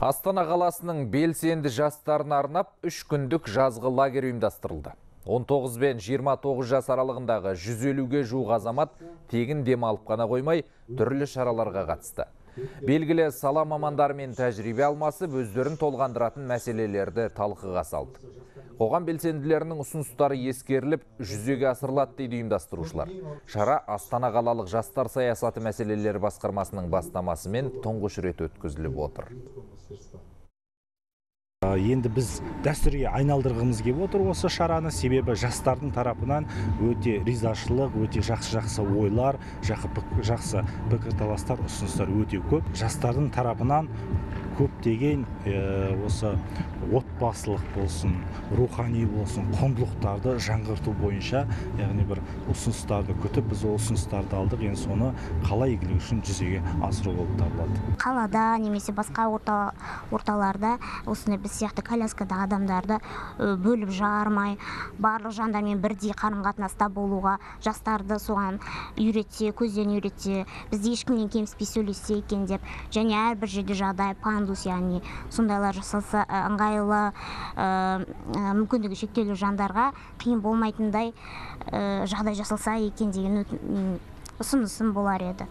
Астана қаласының белсенді жастарына арнап 3 күндік жазғы лагерь ұйымдастырылды. 19 бен 29 жас аралығындағы 150-ге жуық азамат тегін демалып қана қоймай, түрлі шараларға қатысты. Белгілі сала мамандарымен тәжірибе алмасып, өздерін толғандыратын мәселелерді талқыға салды. Қоғам белсенділерінің ұсыныстары ескеріліп, жүзеге асырылады дейді ұйымдастырушылар. Шара Астана қалалық жастар саясаты мәселелері басқармасының бастамасымен тұңғыш рет өткізіліп отыр. Енді біз дәстүрге айналдырғымыз келіп отыр осы шараны, себебі жастардың тарапынан өте ризашылық, өте жақсы ойлар, жақсы пікірталастар, ұсыныстар өте көп. Жастардың тарапынан көптеген осы отбасылық болсын, рухани болсын, құндылықтарды жаңғырту бойынша, яғни бір ұсыныстарды күтіп, біз ұсыныстарды алдық, енді соны қала игілігі үшін жүзеге асыру болып табылады. Қалада немесе басқа орталарда осындай біз сияқты коляскада адамдарды бөліп жармай, барлық жандармен бірдей қарым-қатынаста болуға, жастарды соған үйретсе, көзден үйретсе, бізде ешкімнен кеміспей сөйлессе екен деп, және әрбір жерде жағдай пандус, яғни сондайлар жасалса, ыңғайлы мүмкіндігі шектеулі жандарға қиын болмайтындай жағдай жасалса екен деген ұсынысым болар еді.